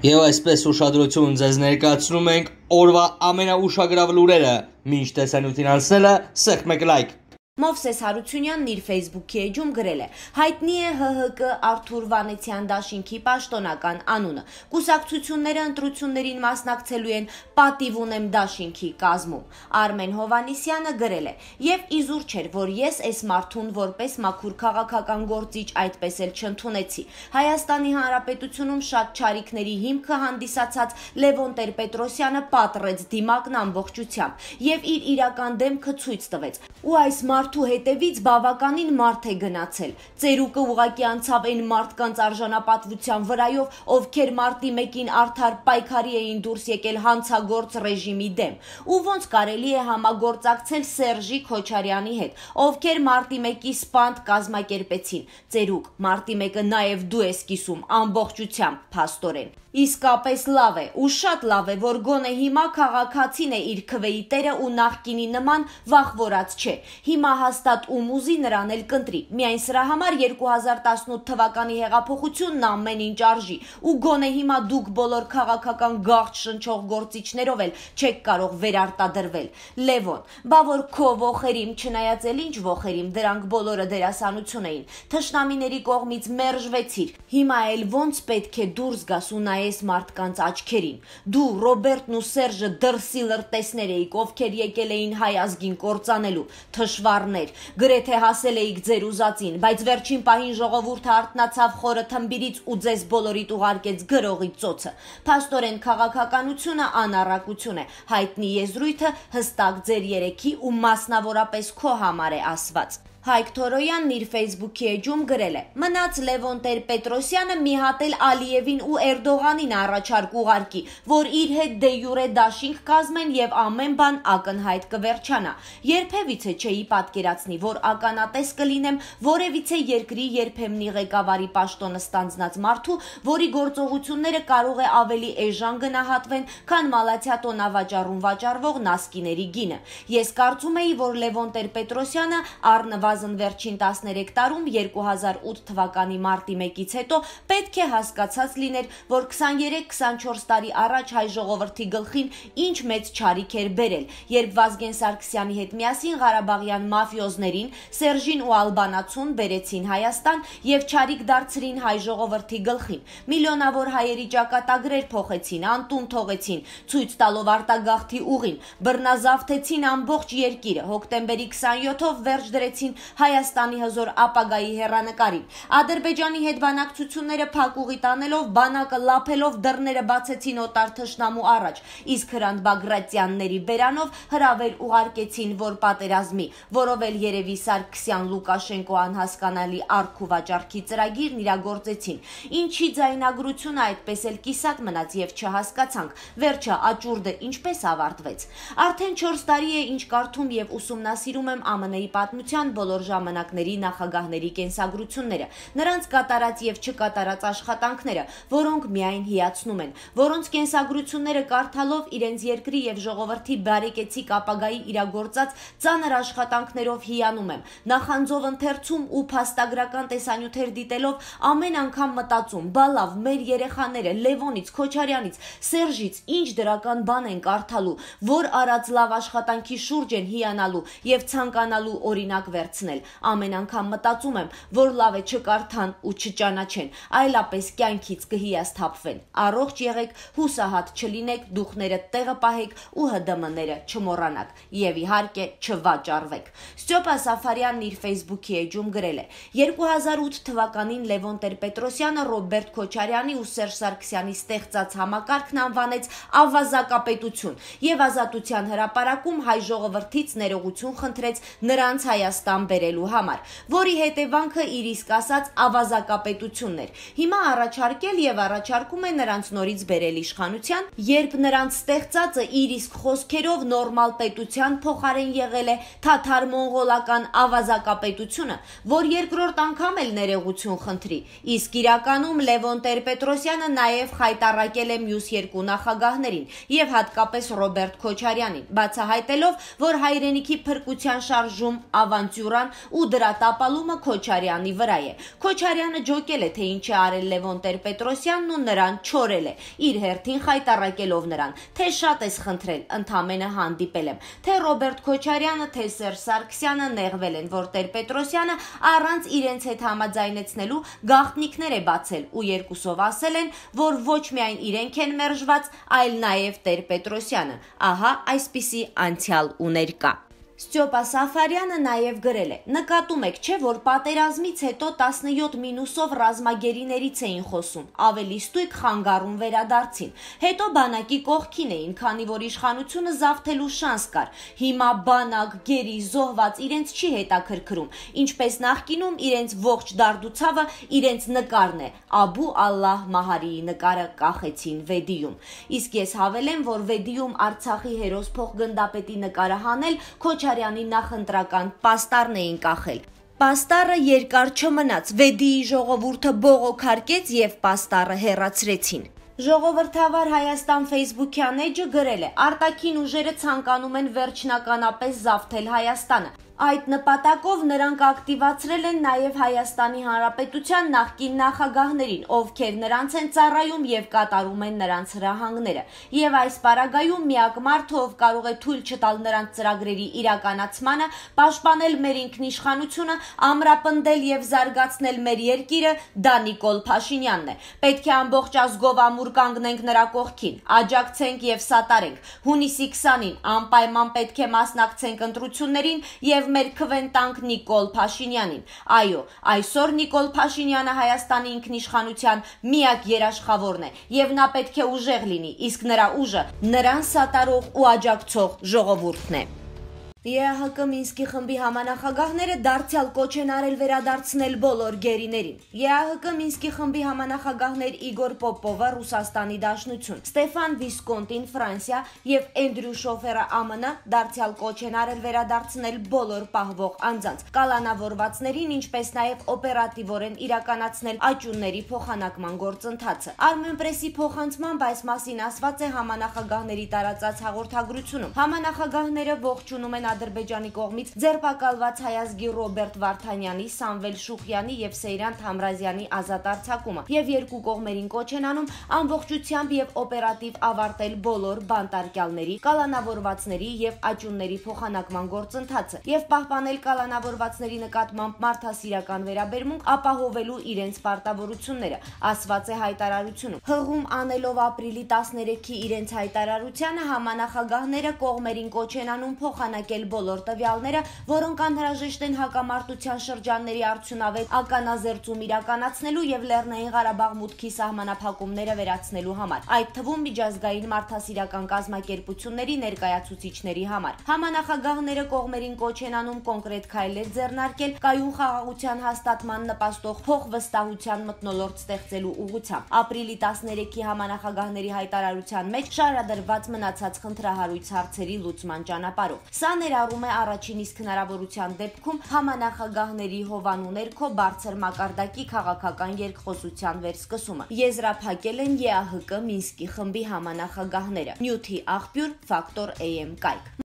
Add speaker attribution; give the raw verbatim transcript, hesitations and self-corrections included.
Speaker 1: Եվ այսպես ուշադրություն ձեզ ներկայացնում ենք օրվա ամենաուշագրավ լուրերը, մինչ տեսանյութին անցնելը սեղմ մեկ լայք։
Speaker 2: Մովսես Հարությունյանն իր Facebook-ի էջում գրել է. հայտնի է Հ Հ Կ Արթուր Վանեցյան դաշինքի պաշտոնական անունը։ Կուսակցությունները ընտրություններին մասնակցելու են պատիվ ունեմ դաշինքի կազմում։ Արմեն Հովանիսյանը գրել է. եւ իզուր չէր, որ ես այս մարդուն որպես մաքուր քաղաքական գործիչ այդպես էլ չընդունեցի։ Հայաստանի Հանրապետությունում շատ չարիքների հիմքը հանդիսացած Լևոն Տեր-Պետրոսյանը պատռեց դիմակն ամբողջությամբ եւ իր իրական դեմքը ցույց տվեց։ Ու այս մարդու հետևից բավականին մարդ է գնացել։ Ծերուկը ուղղակի անցավ այն մարդկանց արժանապատվության վրայով, ովքեր մարտի մեկին արդար պայքարի էին դուրս եկել հանցագործ ռեժիմի դեմ։ Ու ոնց կարելի է համագործակցել Սերժի Քոչարյանի հետ, ովքեր մարտի մեկի սպանդ կազմակերպեցին։ Ծերուկ, մարտի մեկը նաև դու ես կիսում ամբողջությամբ, փաստորեն։ Իսկապես լավ է, ու շատ լավ է, որ գոնե հիմա քաղաքացին է իր քվեի տերը ու նախկինի նման վախվորած չէ։ Հիմա հաստատ ում ուզի նրան էլ կընտրի։ Միայն սրա համար երկու հազար տասնութ թվականի հեղափոխությունն ամեն ինչ արժի, ու գոնե հիմա դուք բոլոր քաղաքական գաղթ շնչող գործիչներով էլ չեք կարող վերարտադրվել։ Լևոն, բա որ քո ոխերիմ, չնայած էլ ինչ ոխերիմ, դրանք բոլորը դերասանություն էին։ Թշնամիների կողմից մերժվեցիր։ Հիմա էլ ոնց պետք է դուրս գաս ու նայես մարդկանց աչքերին։ Դու, Ռոբերտն ու Սերժը դրսի լրտեսներ էիք, ովքեր եկել էին հայ ազգին կործանելու, թշվառներ, գրեթե հասել էիք ձեր ուզածին, բայց վերջին պահին ժողովուրդը արթնացավ խորը թմբիրից ու ձեզ բոլորիդ ուղարկեց գրողի ծոցը։ Փաստորեն քաղաքականությունը անառակություն է, հայտնի եզրույթը հստակ ձեր երեքի ու մասնավորապես քո համար է ասված։ Հայկ Թորոյանն իր Facebook-ի էջում գրել է. մնաց Լևոն Տեր-Պետրոսյանը մի հատ էլ Ալիևին ու Էրդողանին առաջարկ ուղարկի, որ իր հետ դե յուրե դաշինք կազմեն եւ ամեն բան ակնհայտ կվերջանա։ Երբևիցե չէի պատկերացնի, որ ականատես կլինեմ որևիցե երկրի երբեմնի ղեկավարի պաշտոնը ստանձնած մարդու, որի գործողությունները կարող է ավելի էժան գնահատվեն, քան Մալաթիա տոնավաճառում վաճառվող նասկիների գինը։ Ես կարծում էի, որ Լևոն Տեր-Պետրոսյանը առնվազն վերջին տասներեք տարում երկու հազար ութ թվականի մարտի մեկից հետո պետք է հասկացած լիներ, որ քսաներեք քսանչորս տարի առաջ հայ ժողովրդի գլխին ինչ մեծ չարիք էր բերել, երբ Վազգեն Սարգսյանի հետ միասին Ղարաբաղյան մաֆիոզներին, Սերժին ու Ալբանացուն բերեցին Հայաստան եւ չարիք դարձրին հայ ժողովրդի գլխին։ Միլիոնավոր հայերի ճակատագրեր փոխեցին, անտուն թողեցին, ցույց տալով արտագաղթի ուղին, բռնազավթեցին ամբողջ երկիրը, հոկտեմբերի քսանյոթով վերջ դրեցին Հայաստանի հզոր ապագայի հեռանկարին։ Ադրբեջանի հետ բանակցությունները փակուղի տանելով, բանակը լափելով դռները բացեցին օտար թշնամու առաջ, իսկ Հրանտ Բագրատյանների բերանով հրավեր ուղարկեցին, որ պատերազմի, որով էլ երևի Սարգսյան Լուկաշենկո անհասկանալի արք ու վաճառքի ծրագիրն իրագործեցին։ Ինչի ձայնագրությունը այդպես էլ կիսատ մնաց եւ չհասկացանք, վերջը աճուրդը ինչպես ավարտվեց։ Արդեն չորս տարի է ինչ կարդում եւ ուսումնասիրում եմ Ա Մ Ն-ի պատմության բոլոր ժամանակների նախագահների կենսագրությունները, նրանց կատարած եւ չկատարած աշխատանքները, որոնք միայն հիացնում են, որոնց կենսագրությունները կարդալով իրենց երկրի եւ ժողովրդի բարեկեցիկ ապագայի իրագործած ծանր աշխատանքներով հիանում եմ, նախանձով ընթերցում ու փաստագրական տեսանյութեր դիտելով ամեն անգամ մտածում, բա լավ, մեր երեխաները Լևոնից, Քոչարյանից, Սերժից ինչ դրական բան են կարդալու, որ արած լավ աշխատանքի շուրջ են հիանալու եւ ցանկանալու օրինակ վերցնել։ Ամեն անգամ մտածում եմ, որ լավ է չկարդան ու չճանաչեն, այլապես կյանքից կհիասթափվեն։ Առողջ եղեք, հուսահատ չլինեք, դուխները տեղը պահեք ու Հ Դ Մ-ները չմոռանաք եւ իհարկե չվաճառվեք։ Ստյոպա Սաֆարյանն իր Facebook-ի էջում գրել է. երկու հազար ութ թվականին Լևոն Տեր-Պետրոսյանը Ռոբերտ Քոչարյանի ու Սերժ Սարգսյանի ստեղծած համակարգն անվանեց ավազակապետություն եւ Ազատության հրապարակում հայ ժողովրդից ներողություն խնդրեց նրանց Հայաստան բերելու համար, որի հետևանքը իր իսկ ասած ավազակապետությունն էր։ Հիմա առաջարկել եւ առաջարկում է նրանց նորից բերել իշխանության, երբ նրանց ստեղծածը իր իսկ խոսքերով նորմալ պետության փոխարեն եղել է թաթար-մոնղոլական ավազակապետությունը, որ երկրորդ անգամ էլ ներողություն խնդրի։ Իսկ իրականում Լևոն Տեր-Պետրոսյանը նաեւ խայտառակել է մյուս երկու նախագահներին եւ հատկապես Ռոբերտ Քոչարյանին, բացահայտելով, որ հայրենիքի փրկության շարժում ավանտյուրա ծննդուրան ու դրա տապալումը Քոչարյանի վրա է։ Քոչարյանը ջոկել է, թե ինչ է արել Լևոն Տեր-Պետրոսյանն ու նրան չորել է, իր հերթին խայտառակելով նրան, թե շատ ես խնդրել, ընդամենը հանդիպել եմ, թե Ռոբերտ Քոչարյանը, թե Սերժ Սարգսյանը նեղվել են, որ Տեր-Պետրոսյանը առանց իրենց հետ համաձայնեցնելու գաղտնիքներ է բացել ու երկուսով ասել են, որ ոչ միայն իրենք են մերժված, այլ նաև Տեր-Պետրոսյանը։ Ահա այսպիսի անցյալ ու ներկա։ Ստյոպա Սաֆարյանը նաև գրել է. նկատում եք, չէ, որ պատերազմից հետո տասնյոթ մինուսով ռազմագերիներից էին խոսում, ավելի ստույգ խանգարում վերադարձին, հետո բանակի կողքին էին, քանի որ իշխանությունը զավթելու շանս կար, հիմա բանակ, գերի, զոհված իրենց չի հետաքրքրում, ինչպես նախկինում իրենց ողջ դարդուցավը իրենց նկարն է, Աբու Ալլահ Մահարիի նկարը կախեցին Վեդիում, իսկ ես հավելեմ, որ Վեդիում Արցախի հերոս փոխգնդապետի նկարը հանել Քոչարյանի նախընտրական պաստառն էին կախել։ Պաստառը երկար չմնաց, Վեդիի ժողովուրդը բողոքարկեց եւ պաստառը հեռացրեցին։ Ժողովրդավար Հայաստան Facebook-յան էջը գրել է. արտաքին ուժերը ցանկանում են վերջնականապես զավթել Հայաստանը։ Այդ նպատակով նրանք ակտիվացրել են նաև Հայաստանի Հանրապետության նախկին նախագահներին, ովքեր նրանց են ծառայում եւ կատարում են նրանց հրահանգները։ Եվ այս պարագայում միակ մարդը, ով կարող է թույլ չտալ նրանց ծրագրերի իրականացմանը, պաշտպանել մեր ինքնիշխանությունը, ամրապնդել եւ զարգացնել մեր երկիրը, դա Նիկոլ Փաշինյանն է։ Պետք է ամբողջ ազգով ամուր կանգնենք նրա կողքին, աջակցենք եւ սատարենք։ Հունիսի քսանին անպայման պետք է մասնակցենք ընտրություններին եւ մեր քվեն տանք Նիկոլ Փաշինյանին։ Այո, այսօր Նիկոլ Փաշինյանը Հայաստանի ինքնիշխանության միակ երաշխավորն է եւ նա պետք է ուժեղ լինի, իսկ նրա ուժը նրան սատարող ու աջակցող ժողովուրդն է։ ԵԱՀԿ Մինսկի խմբի համանախագահները դարձյալ կոչ են արել վերադարձնել բոլոր գերիներին։ ԵԱՀԿ Մինսկի խմբի համանախագահներ Իգոր Պոպովը Ռուսաստանի Դաշնություն, Ստեֆան Վիսկոնտին Ֆրանսիա եւ Էնդրյու Շոֆերը ԱՄՆ դարձյալ կոչ են արել վերադարձնել բոլոր պահվող անձանց, կալանավորվածներին, ինչպես նաեւ օպերատիվորեն իրականացնել աճյունների փոխանակման գործընթացը։ Armenpress-ի փոխանցմամբ այս մասին ասված է համանախագահների տարածած հաղորդագրությունում։ Համանախագահները ողջունում են Ադրբեջանի կողմից ձերբակալված հայազգի Ռոբերտ Վարդանյանի, Սամվել Շուխյանի եւ Սեյրան Թամրազյանի ազատ արձակումը եւ երկու կողմերին կոչ են անում ամբողջությամբ եւ օպերատիվ ավարտել բոլոր բանտարկյալների, կալանավորվածների եւ աճյունների փոխանակման գործընթացը եւ պահպանել կալանավորվածների նկատմամբ մարդասիրական վերաբերմունք, ապահովելու իրենց պարտավորությունները, ասված է հայտարարությունում։ Հղում անելով ապրիլի տասներեքի իրենց հայտարարությանը համանախագահները կողմերին կոչ են անում փոխանակել բոլոր տվյալները, որոնք անհրաժեշտ են հակամարտության շրջանների արդյունավետ ականազերծում իրականացնելու եւ Լեռնային Ղարաբաղ մուտքի սահմանափակումները վերացնելու համար, այդ թվում միջազգային մարդասիրական կազմակերպությունների ներկայացուցիչների համար։ Համանախագահները կողմերին կոչ են անում կոնկրետ քայլեր ձեռնարկել կայուն խաղաղության հաստատման նպաստող փոխվստահության մթնոլորտ ստեղծելու ուղղությամբ։ Ապրիլի տասներեքի համանախագահների հայտարարության մեջ շարադրված մնացած խնդրահարույց հարցերի լուծման ճանապարհով։ Սա ներառում է առաջին իսկ հնարավորության դեպքում համանախագահների հովանու ներքո բարձր մակարդակի քաղաքական երկխոսության վերսկսումը։ Եզրափակել են ԵԱՀԿ Մինսկի խմբի համանախագահները։ Նյութի աղբյուր Ֆակտոր A M կայք։